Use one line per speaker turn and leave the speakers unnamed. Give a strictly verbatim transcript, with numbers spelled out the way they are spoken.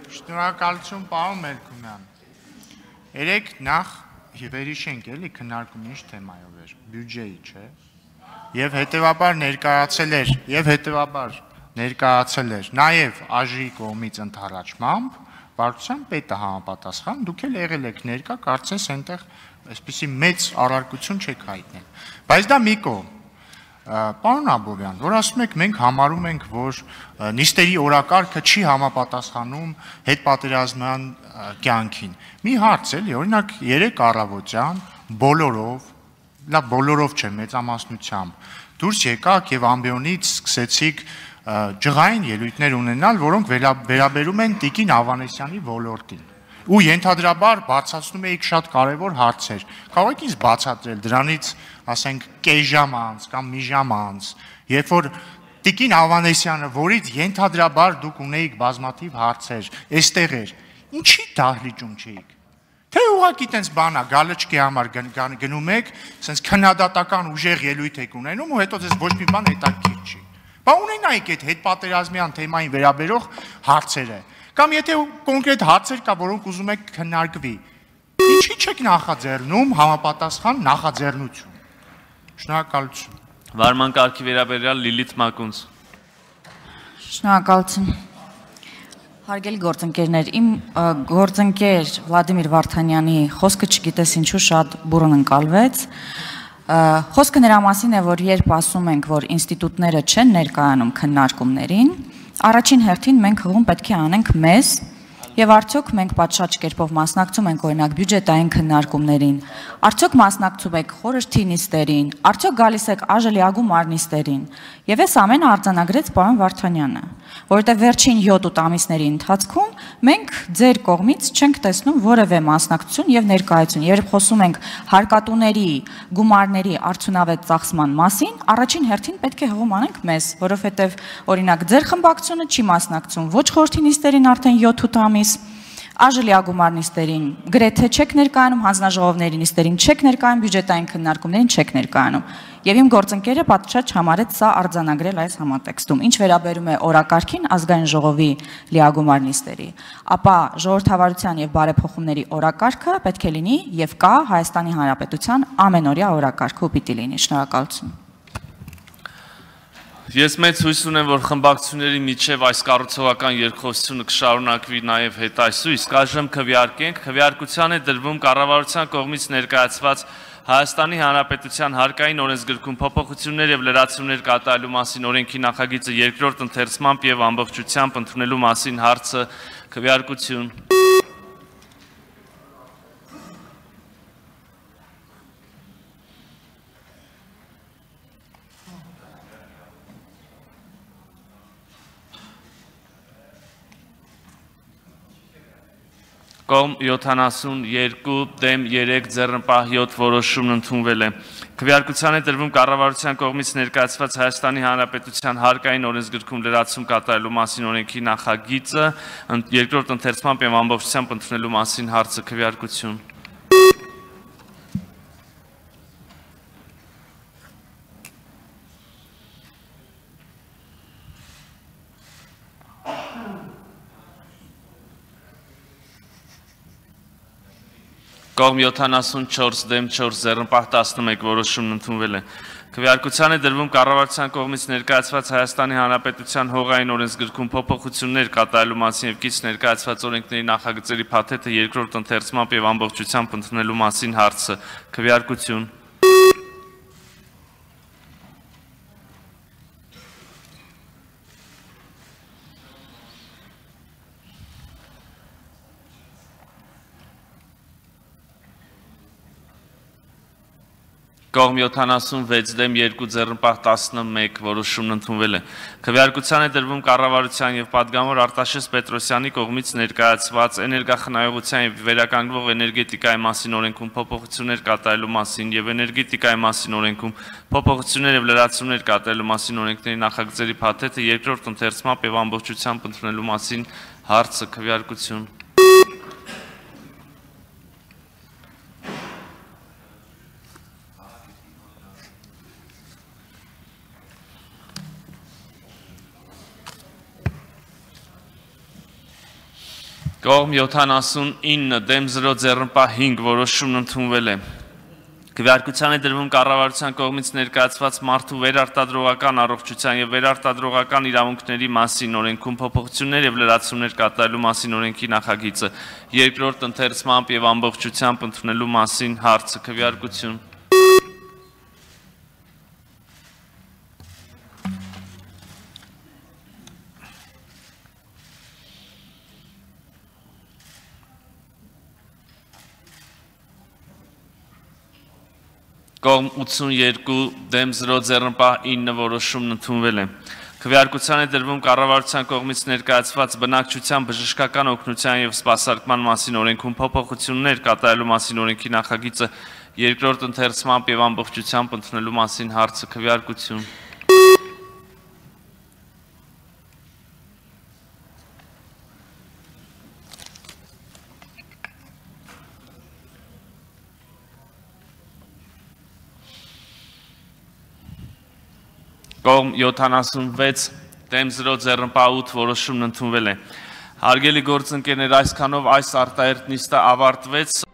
Շնորհակալություն, պարոն Մելքումյան։ Երեք նախ վերհիշենք էլի քննարկումը ինչ թեմայով էր, բյուջեի, չէ։ Եվ հետևաբար ներկայացել էր, եւ հետևաբար ներկայացել էր նաև ԱԺ-ի կողմից ընդառաջմամբ, վարչության պետը համապատասխան, դուք էլ եղել եք ներկա, կարծես այնտեղ այսպիսի մեծ առարկություն չեք հայտնել։ Բայց դա մի կողմ։ Պարոն Աբովյան, որ ասում եք մենք համարում ենք, որ նիստերի օրակարգը չի համապատասխանում հետպատերազմյան կյանքին։ Մի հարց էլի, օրինակ երեք առավոտյան բոլորով, լավ բոլորով չէ, մեծամասնությամբ դուրս եկաք եւ ամբիոնից սկսեցիք ջղային ելույթներ ունենալ, որոնք վերաբերում են Տիկին Ավանեսյանի ոլորտին։ Ու ենթադրաբար բացացնում էիք շատ կարևոր հարցեր։ Կարող եք ինձ բացատրել դրանից, ասենք, կես ժամ անց կամ մի ժամ անց, երբ որ Տիկին Ավանեսյանը, որից ենթադրաբար դուք ունեիք բազմաթիվ հարցեր, այստեղ էր, ինչի դահլիճում չէիք։ Թե ուղղակի տենց բանա, գալչկի համար գնում եք, սենց քննադատական ուժեղ ելույթ եք ունենում ու հետո ձեզ ոչ մի բան հետաքրքիր չի։ Բա ունենայիք այդ հետպատերազմյան թեմային վերաբերող հարցերը։ Կամ եթե կոնկրետ հարցեր կա, որոնք ուզում եք քննարկվի, ինչի չեք նախաձեռնում համապատասխան նախաձեռնություն։ Շնորհակալություն։
Վարման կարգի վերաբերյալ Լիլիթ Մակունց։
Շնորհակալություն։ Հարգելի գործընկերներ, իմ գործընկեր Վլադիմիր Վարդանյանի խոսքը չգիտես ինչու շատ բուրըն ընկալվեց։ Խոսքը նրա մասին է, որ երբ ասում ենք, որ ինստիտուտները չեն ներկայանում քննարկումներին, առաջին հերթին մենք հղում պետք է անենք մեզ, եւ արդյոք մենք պատշաճ կերպով մասնակցում ենք օրինակ բյուջետային քննարկումներին, արդյոք մասնակցում եք խորհրդի նիստերին, արդյոք գալիս եք ԱԺ նիստերին, եւ այս ամենը արձանագրեց պարոն Վարդանյանը, որովհետեւ վերջին յոթ ամիսների ընթացքում մենք ձեր կողմից չենք տեսնում որևէ մասնակցություն եւ ներկայություն, երբ խոսում ենք հարկատուների գումարների արդյունավետ ծախսման մասին, առաջին հերթին պետք է հղում անենք մեզ, որովհետեւ օրինակ ձեր խմբակցությունը չի մասնակցում ոչ խորհրդի նիստերին արդեն յոթ ամիս, ԱԺ նիստերին գրեթե չեք ներկայանում, հանձնաժողովների նիստերին չեք ներկայանում, բյուջետային քննարկումներին չեք ներկայանում։ Եվ իմ գործընկերը պատշաճ համարեց սա արձանագրել այս համատեքստում։ Ինչ վերաբերում է օրակարգին ազգային ժողովի լիագումար նիստերի, ապա ժողովրդավարության եւ բարեփոխումների օրակարգը պետք է լինի եւ կա Հայաստանի Հանրապետության ամենօրյա օրակարգը ու պիտի լինի։ Շնորհակալություն։
Ես մեծ հույս ունեմ, որ խմբակցությունների միջև այս կառուցողական երկխոսությունը կշարունակվի նաև հետայսու, իսկ այժմ քվեարկենք, քվեարկության է դրվում կառավարության կողմից ներկայացված Հայաստանի Հանրապետության հարկային օրենսգրքում փոփոխություններ եւ լրացումներ կատարելու մասին օրենքի նախագիծը երկրորդ ընթերցմամբ եւ ամբողջությամբ ընդունելու մասին հարցը քվեարկություն։ Կողմ յոթանասունյոթ դեմ երեք ձեռնպահ յոթ որոշումն ընդունվել է։ Քվեարկության է դրվում կառավարության կողմից ներկայացված Հայաստանի Հանրապետության հարկային օրենսգրքում լրացում կատարելու մասին օրենքի նախագիծը երկրորդ ընթերցմամբ եւ ամբողջությամբ ընդունելու մասին հարցը քվեարկություն։ Կողմ յոթանասունչորս դեմ չորս ձեռնպահ տասնմեկ որոշումն ընդունվել է։ Քվեարկության է դրվում կառավարության կողմից ներկայացված Հայաստանի Հանրապետության հողային օրենսգրքում փոփոխություններ կատարելու մասին եւ կից ներկայացված օրենքների նախագծերի փաթեթը երկրորդ ընթերցմամբ եւ ամբողջությամբ ընդունելու մասին հարցը քվեարկություն։ Կողմ յոթանասունվեց դեմ երկու ձեռնպահ տասնմեկ որոշումն ընդունվել է։ Քվեարկության է դրվում կառավարության եւ պատգամավոր Արտաշես Պետրոսյանի կողմից ներկայացված էներգախնայողության եւ վերականգնվող էներգետիկայի մասին օրենքում փոփոխություններ կատարելու մասին եւ էներգետիկայի մասին օրենքում փոփոխություններ եւ լրացումներ կատարելու մասին օրենքների նախագծերի փաթեթը երկրորդ ընթերցմամբ եւ ամբողջությամբ ընդունելու մասին հարցը քվեարկություն։ Կողմ յոթանասունինը դեմ զրո ձեռնպահ հինգ որոշումն ընդունվել է։ Քվեարկության է դրվում կառավարության կողմից ներկայացված մարդու վերարտադրողական առողջության եւ վերարտադրողական իրավունքների մասին օրենքում փոփոխություններ եւ լրացումներ կատարելու մասին օրենքի նախագիծը երկրորդ ընթերցմամբ եւ ամբողջությամբ ընդունելու մասին հարցը քվեարկություն։ Կողմ ութսունյերկու դեմ զրո ձեռնպահ ինը որոշումն ընդունվել է։ Քվեարկության է դրվում կառավարության կողմից ներկայացված բնակչության բժշկական օգնության եւ սպասարկման մասին օրենքում փոփոխություններ կատարելու մասին օրենքի նախագիծը երկրորդ ընթերցմամբ եւ ամբողջությամբ ընդունելու մասին հարցը քվեարկություն։ Կողմ յոթանասունվեց դեմ զրո ձեռնպահ ութ որոշումն ընդունվել է։ Հարգելի գործընկերներ, այսքանով այս արտահերտ նիստը ավարտվեց։